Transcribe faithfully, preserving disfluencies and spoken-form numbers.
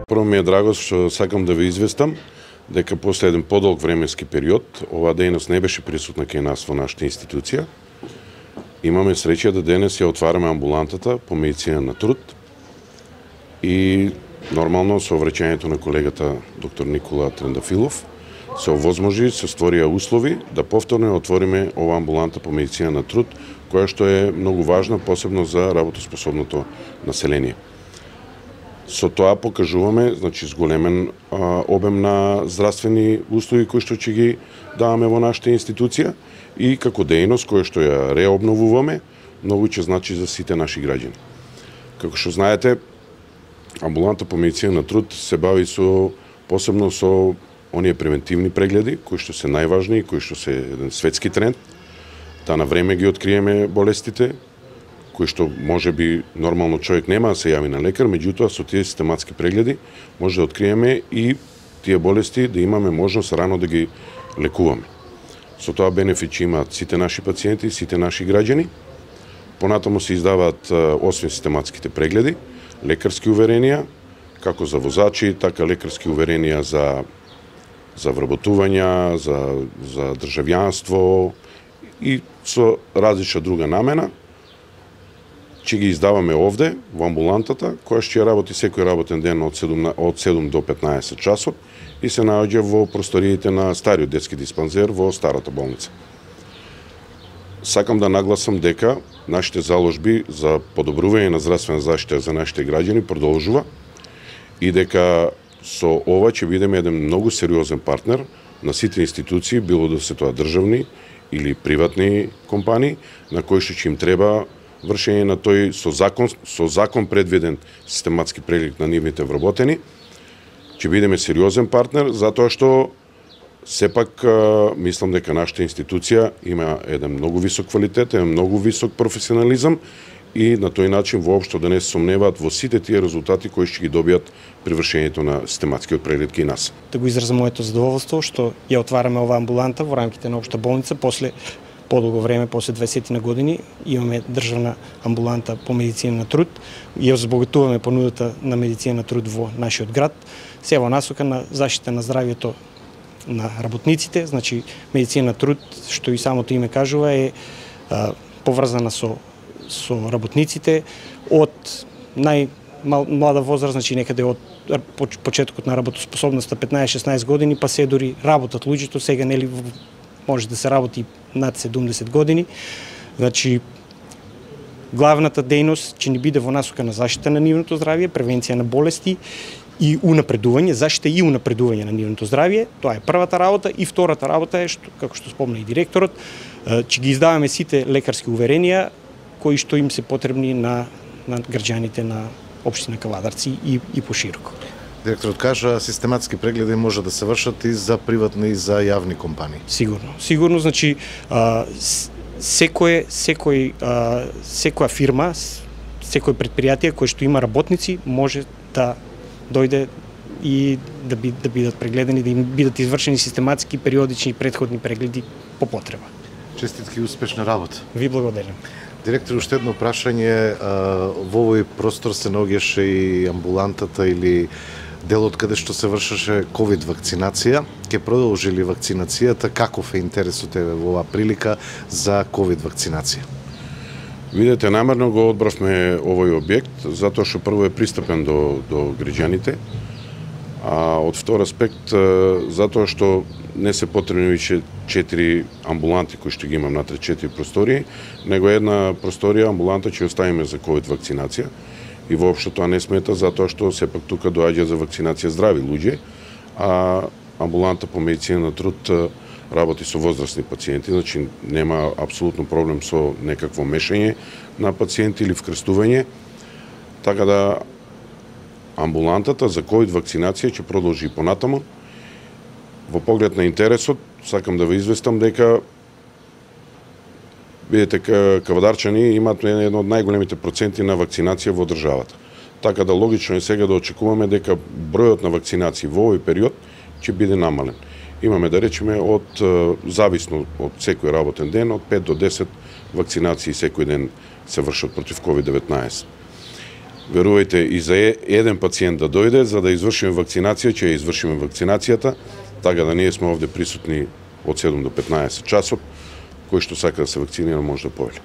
Прво ми е драго што сакам да ви известам дека после еден подолг временски период оваа дејност не беше присутна кај нас во нашата институција. Имаме среќа да денес ја отвараме амбулантата по медицина на труд и нормално со враќањето на колегата доктор Никола Трендафилов се овозможи, се створија услови да повторно ја отвориме оваа амбуланта по медицина на труд, која што е многу важна, посебно за работоспособното население. Со тоа покажуваме, значи, зголемен а, обем на здравствени услуги кои што ќе ги даваме во нашата институција и како дејност која што ја реобновуваме, многу ќе значи за сите наши граѓани. Како што знаете, амбуланта по медицина на труд се бави со посебно со оние превентивни прегледи кои што се најважни и кои што се еден светски тренд, да на време ги откриеме болестите, кои што може би нормално човек нема да се јави на лекар, меѓутоа со тие систематски прегледи може да откриеме и тие болести, да имаме можност рано да ги лекуваме. Со тоа бенефит ќе имаат сите наши пациенти, сите наши граѓани. Понатаму се издаваат, освен систематските прегледи, лекарски уверенија, како за возачи, така лекарски уверенија за за вработувања, за за државјанство и со различна друга намена. Ќе ги издаваме овде, во амбулантата, која ќе работи секој работен ден од седум до петнаесет часот и се наоѓа во просториите на стариот детски диспансер во старата болница. Сакам да нагласам дека нашите заложби за подобрување на здравствена заштита за нашите граѓани продолжува и дека со ова ќе бидеме еден многу сериозен партнер на сите институции, било да се тоа државни или приватни компании, на кои што ќе им треба вршење на тој со закон со закон предвиден систематски преглед на нивните вработени. Ќе бидеме сериозен партнер затоа што сепак мислам дека нашата институција има еден многу висок квалитет, еден многу висок професионализам и на тој начин воопшто да не се сомневаат во сите тие резултати кои ќе ги добијат при вршењето на систематскиот преглед кај нас. Да го изразам моето задоволство што ја отвараме оваа амбуланта во рамките на општа болница после подолго време, после дваесет на години, имаме државна амбуланта по медицина на труд и ја збогатуваме понудата на медицина на труд во нашиот град, се во насока на заштита на здравјето на работниците. Значи, медицина на труд, што и самото име кажува, е а, поврзана со, со работниците од најмлада возраст, значи некаде од почетокот на работоспособноста петнаесет-шеснаесет години, па се дори работат луѓето, сега нели може да се работи над седумдесет години. Значи, главната дејност ќе ни биде во насока на заштита на нивното здравје, превенција на болести и унапредување, заштита и унапредување на нивното здравје. Тоа е првата работа и втората работа е што, како што спомна и директорот, ќе ги издаваме сите лекарски уверенија кои што им се потребни на на граѓаните на општина Кавадарци и и пошироко. Директорот кажа систематски прегледи може да се вршат и за приватни и за јавни компании. Сигурно. Сигурно, значи а, секој секој а, секоја фирма, секој предпријатие кој што има работници може да дојде и да, би, да бидат прегледани, да им бидат извршени систематски, периодични, претходни прегледи по потреба. Честитки и успешна работа. Ви благодарам. Директор, уште едно прашање, во овој простор се наоѓаше и амбулантата или делот каде што се вршеше ковид вакцинација. Ке продолжи ли вакцинацијата? Каков е интересот еве во оваа прилика за ковид вакцинација? Видете, намерно го одбравме овој објект, затоа што прво е пристапен до, до граѓаните, а од втор аспект, затоа што не се потребни више четири амбуланти кои што ги имам натре четири простории, него една просторија амбуланта ќе оставиме за ковид вакцинација и воопшто тоа не смета затоа што сепак тука доаѓа за вакцинација здрави луѓе, а амбуланта по медицина на труд работи со возрастни пациенти, значи нема апсолутно проблем со некакво мешање на пациенти или вкрстување, така да амбулантата за ковид вакцинација ќе продолжи и понатаму. Во поглед на интересот, сакам да ве известам дека видите, кавадарчани имаат едно од најголемите проценти на вакцинација во државата. Така да логично е сега да очекуваме дека бројот на вакцинации во овој период ќе биде намален. Имаме да речеме од зависно од секој работен ден од пет до десет вакцинации секој ден се вршат против ковид деветнаесет. Верувајте, и за еден пациент да дојде, за да извршиме вакцинација, ќе ја извршиме вакцинацијата, така да ние сме овде присутни од седум до петнаесет часот, кој што сака да се вакцинира може да повели.